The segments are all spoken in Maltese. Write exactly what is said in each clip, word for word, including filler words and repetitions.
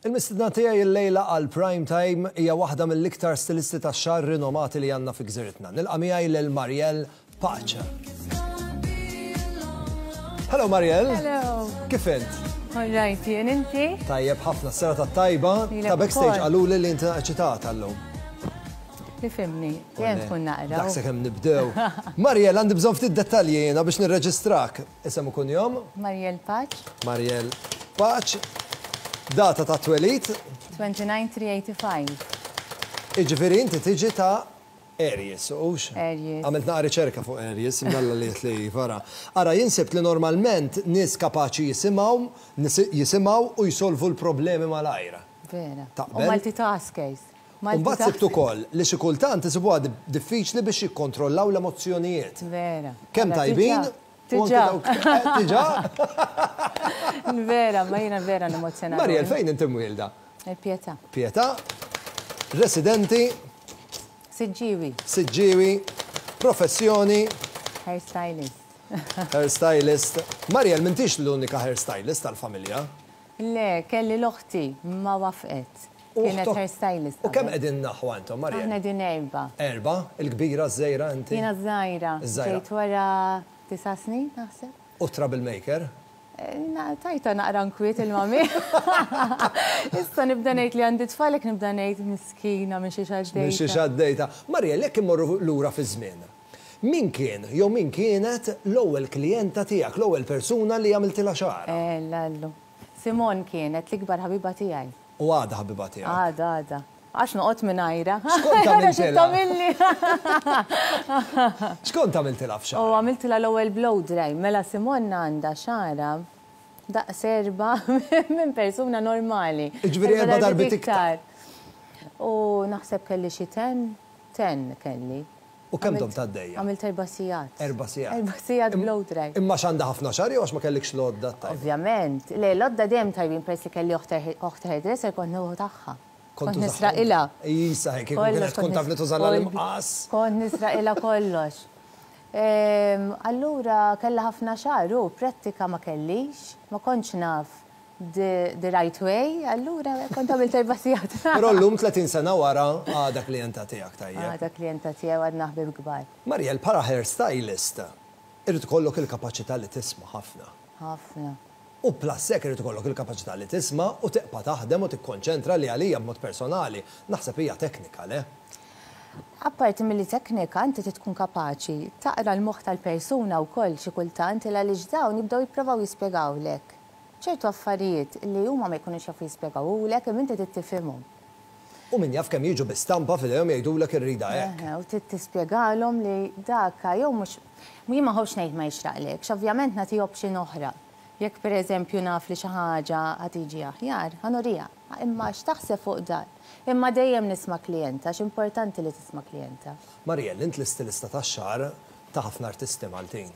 Il-mistedna tiegħi illejla għal Prime Time hija waħda mill-iktar stilisti tax-xagħar rinomati li għandna fi gżiritna. Nilqa' miegħi lil Marielle Pace. Hello, Marielle. Hello. Kif int? All right, jien inti? Tajjeb ħafna, s-serata tajba. Lilek Ta' backstage ukoll. Qaluli li inti eċitata llum. Tifhimni, dejjem tkun naqra. Daqs kemm nibdew. Marielle, għandi bżonn ftit dettalji jiena biex nirreġistrak. Isem u kunjom? Marielle Pace. Marielle Pace. Data ta' twelid? twenty-nine three eighty-five. Iġifieri inti tiġi ta' Aries, ux? Aries. Għamilt naqra riċerka fuq Aries, mnalla li li vara. Ara, jien sibt li normalment nies kapaċi jisimgħu, jisimgħu u jisolvu l-problemi mal-ajra. Vera. Taqbel? U multitaskers. Mbagħad sibt ukoll li xi kultant isibuha diffiċli biex jikkontrollaw l-emozzjonijiet. Vera. Kemm Ara, tajbin? U anke Tiġa. dawk- eh, Tiġa? Vera, ma jiena vera n-emozjonali. Mariel, fejn inti mwielda? Il-Pietà. Pietà, residenti? Siġġiwi. Siġġiwi, professjoni? Hairstylist. Hairstylist. Mariel, m'intix l-unika hairstylist tal-familja. Le, kelli l-oħti, ma wafqet. U Kienet oħtok- hairstylist. U kemm qabel. qegħdin aħwa intom, Mariel? Aħna din erba. Erba, il-kbira, ż-żgħira inti? Jiena żgħira. Iż-żgħira. Ġejt wara disa' snin, naħseb. U troublemaker? Eh, na- Tajta naqra nkwiet il-mami. Issa nibda ngħid li għandi tfalek, nibda ngħid miskina minn xi Minn xi għaddejta. Mariel, jekk immorru lura fi żmien. Min kien, jew min kienet l-ewwel klijenta tiegħek, l-ewwel persuna li għamiltilha xagħarha? Eh, lallu. Simon kienet l-ikbar ħabiba tiegħi. U għadha ħabiba tiegħek? Għada, għada. Għax noqgħod mingħajra. X'kont għamiltilha? Tagħmilli. X'kont għamiltilha U f'xagħarha? għamiltilha l-ewwel blow dry. Mela Simon għandha xagħarha daqs erba minn persuna normali. Jiġifieri erba' darbiet iktar. U naħseb kelli xi ten, ten kelli. U kemm domt għaddejja? Għamilt erba' sigħat. Erba' sigħat. Erba' sigħat blow dry. Imma x'għandha ħafna xagħar jew għax ma kellikx l-għodda tajba? Ovvjament. Le, l-għodda dejjem tajbin, peress li kelli oħti hairdresser, kont nieħu tagħha. Kont Kont nisraqilha. Isa, kieku kienet tkun taf li tuża l-imqas. Kont nisraqilha kollox. Ehm, Allura kella ħafna xagħar u prattika ma kellix, ma kontx naf the, the right way, allura kont għamilt erba' sigħat. Però llum tletin sena wara għadha klijenta tiegħek, tajjeb? Għadha klijenta tiegħi, għadna ħbib kbar. Mariel, bħala hairstylist, irid ikollok il-kapaċità li tisma' ħafna. Ħafna. U plus hekk irid ikollok il-kapaċità li tisma' u tibqa' taħdem u tikkonċentra, li għalija b'mod personali naħseb hija teknika, le? Apparti mill teknika, inti trid tkun kapaċi taqra l-moħħ tal-persuna wkoll xi kultant, il għaliex dawn jibdew jippruvaw jispjegawlek ċertu affarijiet li huma ma jkunux jafu jispjegawlek, imma inti trid tifhimhom. U min jaf kemm jiġu bi stampa f'idejhom, jgħidulek irrida hekk. Eħe, u trid tispjegalhom li daka jew mhux, jien ma nħobbx ngħid ma jixraqlek, ovvjament nagħti option oħra. Jekk pereżempju naf li xi ħaġa ħa tiġi aħjar, ħa nuriha. Imma x'taħseb fuq dan? Imma dejjem nisma' klijenta, x'importanti li tisma' klijenta. Marielle, int l-istilista tax-xagħar ta' ħafna artisti Maltin.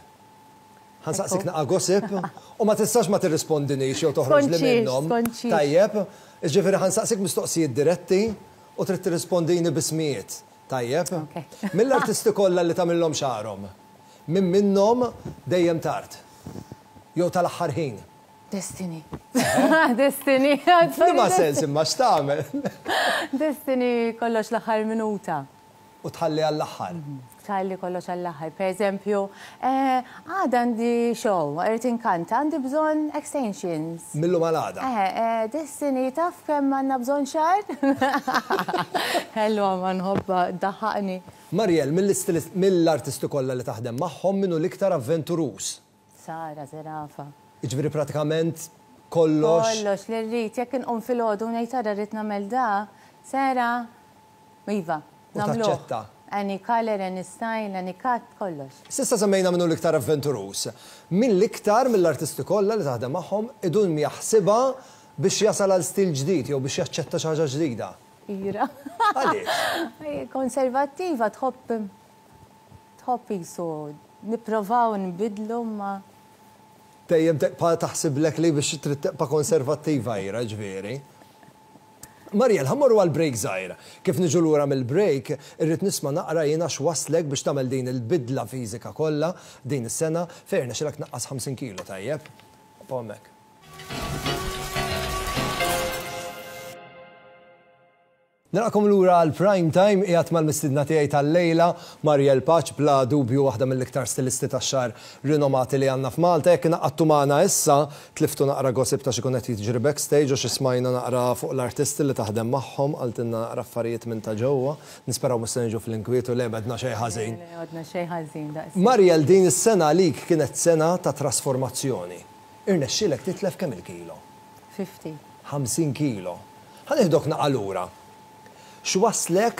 Ħa nsaqsik naqa gossip u ma tistax ma tirrispondinix jew toħroġ li Skonċix, minnhom. Skonċix. Tajjeb, ġifieri ħa nsaqsik mistoqsijiet diretti u trid tirrispondini b'ismijiet. Tajjeb? Ok. Mill-artisti kollha li tagħmilhom xagħarhom, min minnhom dejjem tard? Jew tal-aħħar ħin? Destiny. Destiny. Liema sens, imma x'tagħmel? Destiny kollox l-aħħar minuta. U tħalli għall-aħħar. Tħalli kollox għall-aħħar. Per eżempju, eh, għada għandi show, irrid inkanta, għandi bżonn extensions. Mil-lum għal għada. Eh, eh, Destiny, taf kemm għandna bżonn xagħar? Hello, ma nħobba, daħħaqni. Mariel, mill-istilist- mill-artisti kollha li taħdem magħhom, minnu l-iktar avventuruż? Sara Zerafa. Jiġifieri pratikament kollox. Kollox li rrid, jekk inqum filgħodu ngħid ara rrid nagħmel da, Sara, iva, U nagħmluh. taċċetta. Any color, any style, any cut, kollox. S'issa semmejna minnu l-iktar avventuruż. Min l-iktar mill-artisti kollha li taħdem magħhom idum jaħsibha biex jasal għal stil ġdid jew biex jaċċetta xi ħaġa ġdida? Ira. Għaliex? Konservattiva, tħobb tħobb jisu nipprovaw nbidlu ma Dejjem tibqa' taħsiblek li biex trid tibqa' konservattiva Ira, ġifieri. Mariel, ħa mmorru għal break żgħira. Kif niġu lura mill-break, irrid nisma' naqra jiena x'waslek biex tagħmel din il-bidla fiżika kollha din is-sena fejn rnexxilek naqqas ħamsin kilo, tajjeb. Hemmhekk. Nilqagħkom lura għal Prime Time. Qiegħed mal-mistidna tiegħi tal-lejla, Mariel Pace, bla dubju waħda mill-iktar stilisti tax-xagħar rinomati li għandna f'Malta. Jekk ingħaqadtu magħna issa, tliftu naqra gossip ta' x'ikun qed jiġri backstage u xi smajna naqra fuq l-artisti li taħdem magħhom, qaltilna naqra affarijiet minn ta' ġewwa. Nisperaw mhux se niġu fl-inkwiet u le għedna xejn ħażin. Għedna xejn ħażin daqs. Mariel, din is-sena għalik kienet sena ta' trasformazzjoni. Irnexxielek titlef kemm il-kilo? ħamsin. ħamsin kilo. Ħa nieħdok naqra lura. X'waslek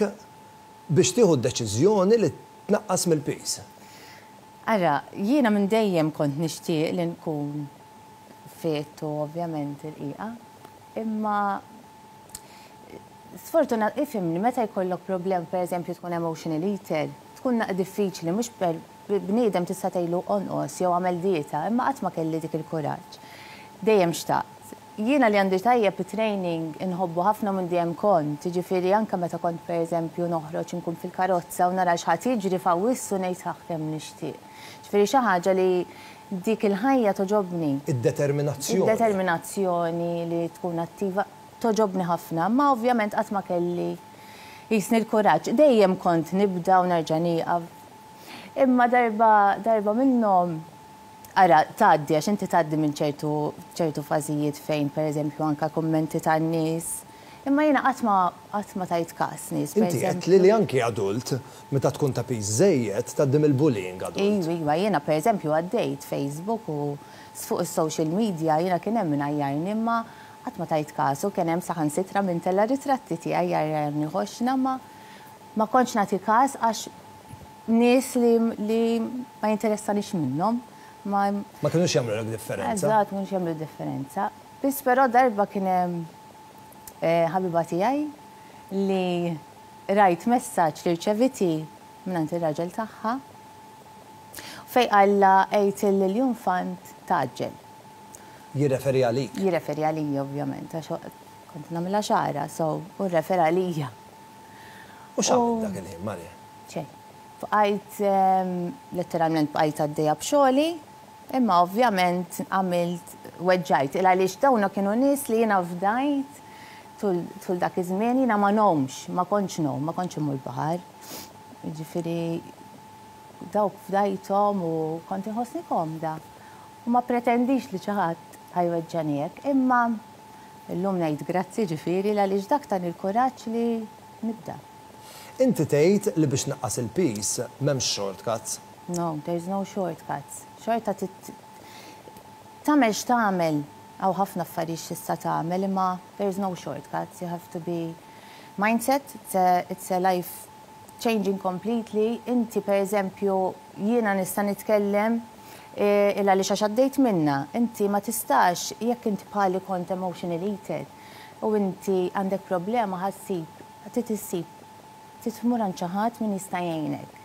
biex tieħu d-deċiżjoni li tnaqqas mill-piż? Ara, jiena minn dejjem kont nixtieq li nkun fit u ovvjament irqiqa, imma sfortunat, ifhimni, meta jkollok problem, per eżempju tkun emotional eater, tkun naqra diffiċli, mhux per bniedem tista' tgħidlu onqos jew għamel dieta, imma qatt ma kelli dik il-kuraġġ. Dejjem xtaqt. Jiena li għandi tajjeb training inħobbu ħafna minn dejjem kont, jiġifieri anke meta kont per eżempju noħroġ inkun fil-karozza u nara x'ħadd jiġri f'Awwissu ngħid ħaħ kemm nixtieq. Ġifieri xi ħaġa li dik il-ħajja toġobni. Id-determinazzjoni. Id-determinazzjoni li tkun attiva toġobni ħafna, ma ovvjament qatt ma kelli jisni l-kuraġġ. Dejjem kont nibda u nerġa' nieqaf. Imma darba, darba minnhom, ara, tgħaddi, għax inti tgħaddi minn ċertu, ċertu fażijiet fejn, per eżempju, anka kummenti tan-nies. Imma jiena qatt ma qatt ma tajt każ nies. Per Inti qed eżempju. li li anki adult, meta tkun ta' piż żejjed, tgħaddi mill-bullying adult. Iva, iva, jiena per eżempju għaddejt Facebook u fuq is-social media jiena kien hemm min għajjarni, imma qatt ma tajt kasu, kien hemm saħansitra minn tella ritratti tiegħi jgħajjarni ħoxna, ma ma kontx nagħti każ għax nies li, li ma jinteressanix minnhom. Ma Ma kinux jagħmlu differenza. Eżatt, mhux jagħmlu differenza. Biss però darba kien hemm eh, ħabiba tiegħi li rajt messaġġ li rċeviti minn ir-raġel tagħha fej qalla għid l-infant tgħaġġel. Jirreferi għalik. Jirreferi għalija ovvjament, għax kont nagħmilha xagħra, so u rrefera għalija. U x'għamilt dak il-ħin, Maria? Xejn. Bqajt ehm, letteralment bqajt għaddejja b'xogħli, imma ovvjament għamilt weġġajt. Il għaliex dawna kienu nies li jiena fdajt tul tul dak iż-żmien jiena ma ngħumx, ma kontx ngħum, ma kontx immur baħar. Jiġifieri dawk fdajthom u kont inħossni komda. U ma pretendix li xi ħadd ħa jweġġani hekk, imma illum ngħid grazzi ġifieri għaliex dak tani il-kuraġġ li nibda. Inti tgħid li biex naqqas il-piż m'hemmx shortcuts. No, there's no shortcuts. Xorta tit tagħmel x'tagħmel, hawn ħafna affarijiet x'tista' tagħmel, imma there's no shortcuts. You have to be mindset, it's a, it's a life changing completely. Inti per eżempju, jiena nista' nitkellem eh, illa li għax għaddejt minna. Inti ma tistax, jekk inti bħali kont emotional eater u inti għandek problema ħa ssib, trid issib, tmur għand xi ħadd min jista' jgħinek.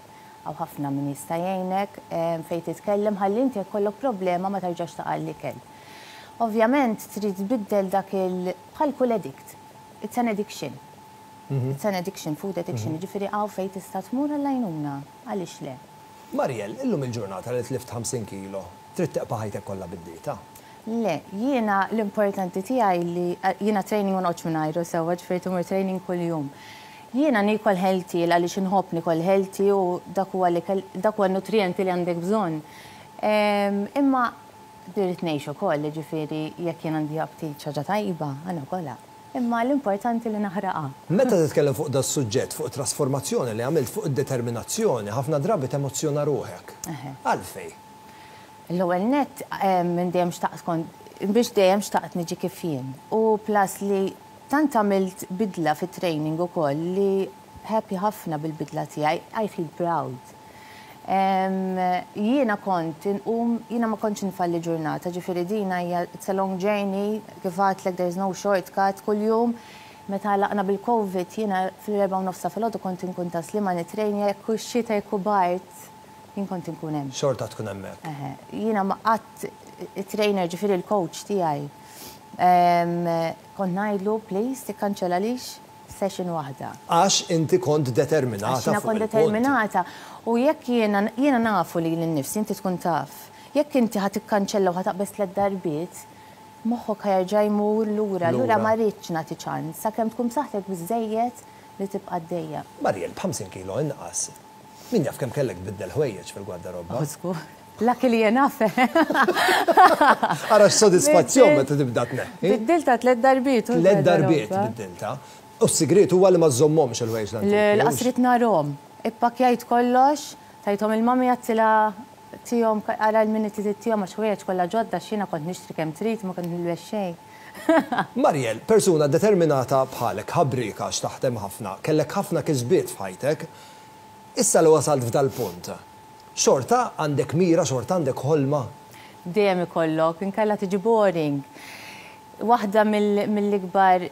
Hawn ħafna min jista' jgħinek eh, fejn titkellem ħalli inti jkollok problema ma tarġax taqa' l-ikel. Ovvjament trid tbiddel dak il bħal kull addict. It's an addiction. It's an addiction, food addiction. Ġifieri hawn fejn tista' tmur għall-għajnuna. Għaliex le? Mariel, illum il-ġurnata li tlift ħamsin kilo, trid teqpa' ħajtek kollha bid-dieta. Le, jiena l-importanti tiegħi li jiena training ma noqgħodx mingħajru sewwa, ġifieri tmur training kuljum. Jiena nikol healthy għaliex inħobb nikol healthy u dak huwa li dak huwa nutrienti li għandek bżonn. Em, Imma irrid ngħix ukoll, ġifieri jekk jien għandi aptit xi ħaġa tajba, ħa nokolha. Imma l-importanti li naħraqha. Meta titkellem fuq da suġġett, fuq trasformazzjoni li għamilt, fuq id-determinazzjoni, ħafna drabi temozzjona ruħek. Eħe. Għalfej. L-ewwel net em, minn dejjem xtaqt kont biex dejjem xtaqt niġi kif jien. U plus li tant għamilt bidla fit-training ukoll li happy ħafna bil-bidla tiegħi, I feel proud. Em, Jiena kont inqum, jiena ma kontx nfalli ġurnata, ġifieri dina hija it's a long journey, kif għedtlek there's no shortcut, kuljum meta laqna bil-Covid jiena fil-erbgħa u nofs ta' filgħodu kont inkun Tas-Sliema nitrejnja jekk hux xita jekk hu bard, jien kont inkun hemm. Xorta tkun hemmhekk. Eħe, jiena ma qatt it-trainer ġifieri il-coach tiegħi. em, Kont ngħidlu please tikkanċellalix session waħda. Għax inti kont determinata. Għax jiena fuq kont il-punt. determinata. U jekk jiena jiena nafu li l-nifsi inti tkun taf. Jekk inti ħa tikkanċella u ħa taqbeż tliet darbiet, moħħok ħa jerġa' jmur lura, lura Lura. ma rridx nagħti ċans. Sakemm tkun b'saħħtek biżejjed li tibqa' għaddejja. Mariel, b'ħamsin kilo inqas. Min jaf kemm kellek tbiddel ħwejjeġ fil-gwardarobba? Żgur. Lucky li jena fe. Ara x'sodisfazzjon meta tibda tneħħi. Biddilta tliet darbiet. Tliet darbiet biddilta. U s-sigriet huwa li ma żommhomx il-ħwejjeġ l-antiki. Lanqas ridt narahom. Ippakkjajt kollox, tajthom il-mami, għedtilha tihom ara l-miniti tihom, għax ħwejjeġ kollha ġodda x'jiena kont nixtri kemm trid, ma kont nilbes xejn. Mariel, persuna determinata bħalek, ħabrika x'taħdem ħafna, kellek ħafna kisbiet f'ħajtek, issa li wasalt f'dal punt, xorta għandek mira, xorta għandek ħolma? Dejjem ikollok, inkella tiġi boring. Waħda mill-ikbar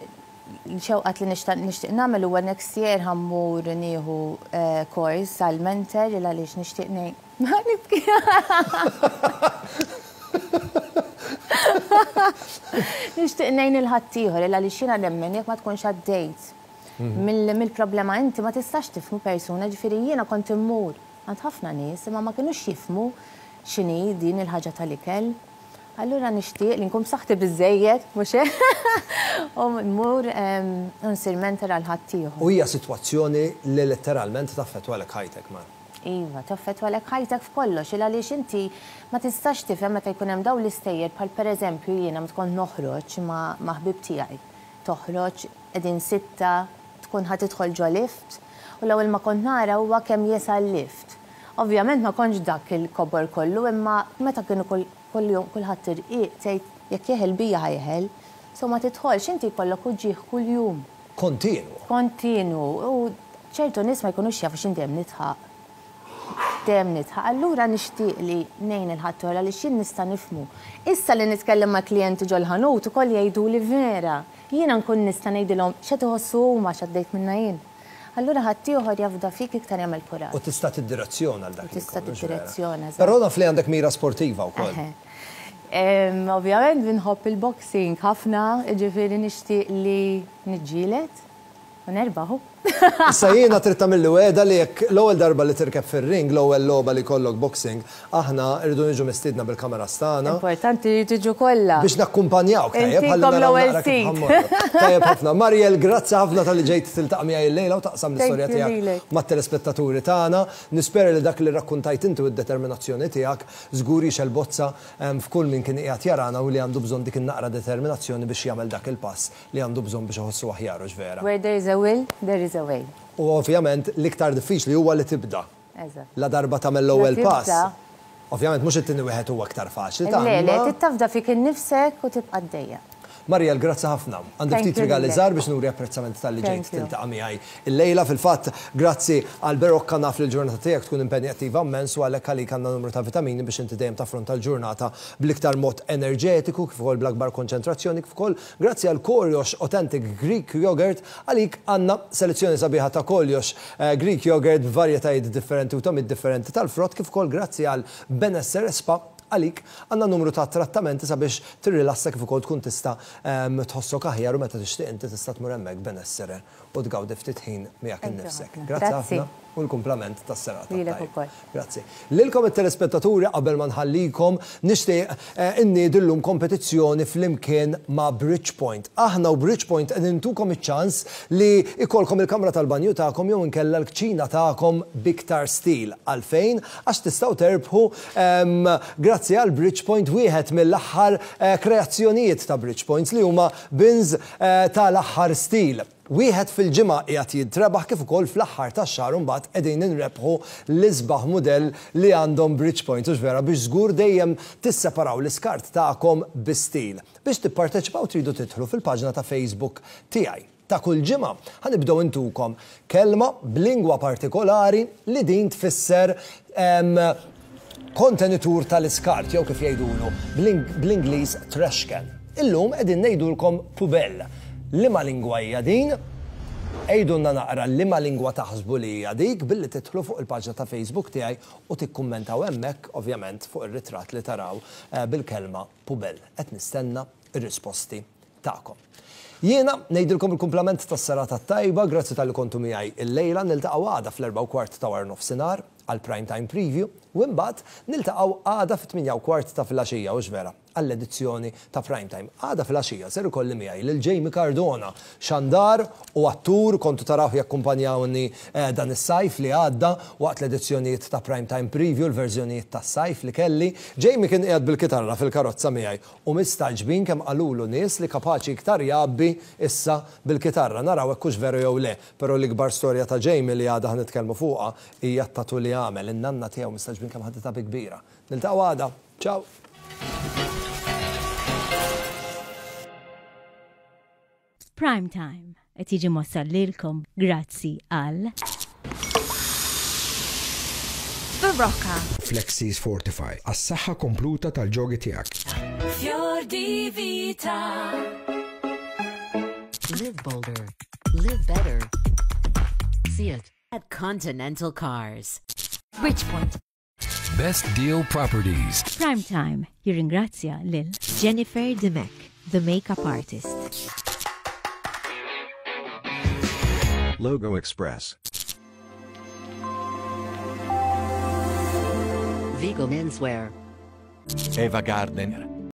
xewqat li nixtieq nagħmel huwa next year ħa mmur nieħu kors għal mentor, il għaliex nixtieq ngħid. Nibki. Nixtieq ngħin il-ħaddieħor, il għaliex jiena nemmen jekk ma tkunx għaddejt mill-problema inti ma tistax tifhmu persuna, ġifieri jiena kont immur għand ħafna nies imma ma kinux jifhmu x'inhi din il-ħaġa tal-ikel. Allura nixtieq li nkun b'saħħti biżejjed, mhux hekk? U mmur nsir mentor għal ħaddieħor. U hija sitwazzjoni li letteralment taffettwalek ħajtek, man. Iva, taffettwalek ħajtek f'kollox, il għaliex inti ma tistax tifhem meta jkun hemm dawn l-istejjer, bħal pereżempju jiena meta kont noħroġ ma' ħbib tiegħi. Toħroġ qegħdin sitta, tkun ħa tidħol ġo lift, u l-ewwel ma kont nara huwa kemm jesa l-lift. Ovvjament ma kontx dak il-kobor kollu, imma meta kienu kull-jum kulħadd irqiq tgħid jekk jeħel bija ħajħel, so ma tidħolx, inti jkollok uġigħ kuljum. Kontinwu. Kontinwu. U ċertu nies ma jkunux jafu x'in dejjem nidħaq. Dejjem nidħaq. Allura nixtieq li ngħin il-ħaddieħor għaliex jien nista' nifhmu. Issa li nitkellem ma' klijenti ġol-ħanut ukoll jgħiduli vera. Jiena nkun nista' ngħidilhom x'qed iħossu huma x'għaddejt minnha jien. Allura ħaddieħor jafda fik iktar jagħmel kuraġġ. U tista' tiddirezzjona għal dak. U tista' tiddirezzjona, eżatt. Però naf li għandek mira sportiva wkoll. Ovvjament nħobb il-boxing ħafna, ġifieri nixtieq li niġġieled u nerbaħu. Issa jiena trid tagħmilli wegħda li jekk l-ewwel darba li tirkeb fir-ring, l-ewwel logħba li jkollok boxing, aħna rridu niġu mistiedna bil-kameras tagħna. Importanti li tiġu kollha. Biex nakkumpanjawk, tajjeb, ħalli naraw naqra kif ħammorru. Tajjeb ħafna. Mariel, grazzi ħafna talli ġejt tiltaqa' miegħi llejla u taqsam l-istorja tiegħek mat-telespettaturi tagħna. Nispera li dak li rrakkuntajt inti u d-determinazzjoni tiegħek żgur jixgħel bozza f'kull min kien qiegħed jarana u li għandu bżonn dik in-naqra determinazzjoni biex jagħmel dak il-pass li għandu bżonn biex iħossu aħjar, hux vera. Where there is a will, there is a way. U ovvjament l-iktar diffiċli huwa li tibda. Eżatt. La darba tagħmel l-ewwel pass. Ovvjament mhux it-tieni wieħed huwa aktar faċli ta' Le, le, tittafda fik innifsek u tibqa' għaddejja. Mariel, grazzi ħafna. Għandi ftit rigali żgħar biex nuri apprezzament talli ġejt tiltaqa' miegħi illejla. Fil-fatt, grazzi għal Berocca, naf li l-ġurnata tiegħek tkun impenjattiva immens u għalhekk għalik għandna numru ta' vitamini biex inti dejjem taffronta l-ġurnata bl-iktar mod enerġetiku, kif ukoll bl-akbar konċentrazzjoni, kif ukoll grazzi għal Korjox Authentic Greek Yogurt, għalik għandna selezzjoni sabiħa ta' Korjox Greek Yogurt b'varjetajiet differenti u togħmiet differenti tal-frott, kif ukoll grazzi għal Benessere Spa, għalik għandna numru ta' trattamenti sabiex tirrilassa kif ukoll tkun tista' tħossok aħjar u meta tixtieq inti tista' tmur hemmhekk Benessere u tgawdi ftit ħin miegħek innifsek. Grazzi ħafna u l-kumplament tas-serata. Lilek ukoll. Grazzi. Lilkom it-telespettaturi, qabel ma nħallikom nixtieq inniedi llum kompetizzjoni flimkien ma' Bridgepoint. Aħna u Bridgepoint qed intukom iċ-ċans li ikolkom il-kamra tal-banju tagħkom jew inkella l-kċina tagħkom biktar stil. Għalfejn? Għax tistgħu terbħu grazzi għal Bridgepoint wieħed mill-aħħar kreazzjonijiet ta' Bridgepoint li huma bins tal-aħħar stil. Wieħed fil-ġimgħa qiegħed jintrebaħ, kif ukoll fl-aħħar tax-xahar imbagħad qegħdin inrebħu l-isbaħ mudell li għandhom Bridgepoint, hux vera, biex żgur dejjem tisseparaw l-iskart tagħkom bi stil. Biex tipparteċipaw tridu tidħlu fil-paġna ta' Facebook tiegħi. Ta' kull ġimgħa ħanibdew intukom kelma b'lingwa partikolari li din tfisser kontenitur tal-iskart jew kif jgħidulu bl-Ingliż trash can. Illum qegħdin ngħidulkom pubell. Liema lingwa hija din? Għidulna naqra liema lingwa taħsbu li hija dik billi tidħlu fuq il-paġna ta' Facebook tiegħi u tikkummentaw hemmhekk ovvjament fuq ir-ritratt li taraw bil-kelma pubell. Qed nistenna r-risposti tagħkom. Jiena ngħidilkom il-kumplament tas-serata tajba, grazzi talli kontu miegħi illejla, niltaqgħu għada fl-erbgħa u kwart ta' wara nofsinhar għal prime time preview u imbagħad niltaqgħu għada fit-tmienja u kwart ta' filgħaxija, hux vera, Għall-edizzjoni ta' Prime Time. Għada fil-għaxija ser ikolli miegħi lil Jamie Cardona, xandar u attur, kontu taraw jakkumpanjawni eh, dan is-sajf li għadda waqt l-edizzjonijiet ta' Prime Time Preview, l-verżjonijiet tas-sajf li kelli. Jamie kien qiegħed bil-kitarra fil-karozza miegħi u mistagħġbin kemm qalulu nies li kapaċi iktar jgħabbi issa bil-kitarra. Naraw hekk hux veru jew le, però l-ikbar storja ta' Jamie li għada ħa nitkellmu fuqha hija t-tattoo li għamel, in-nanna tiegħu mistagħġbin kemm ħaditha bi kbira. Niltaqgħu għada. Ciao. Prime Time qed jiġi mwassal lilkom grazzi għal Berocca. Flexis Fortify, għas-saħħa kompluta tal-ġogi tiegħek. Fior di Vita. Live bolder. Live better. See it at Continental Cars. Bridgepoint. Best Deal Properties. Prime Time jirringrazzja lil Jennifer Dimech, the makeup artist. Logo Express. Vigo Menswear. Eva Gardner.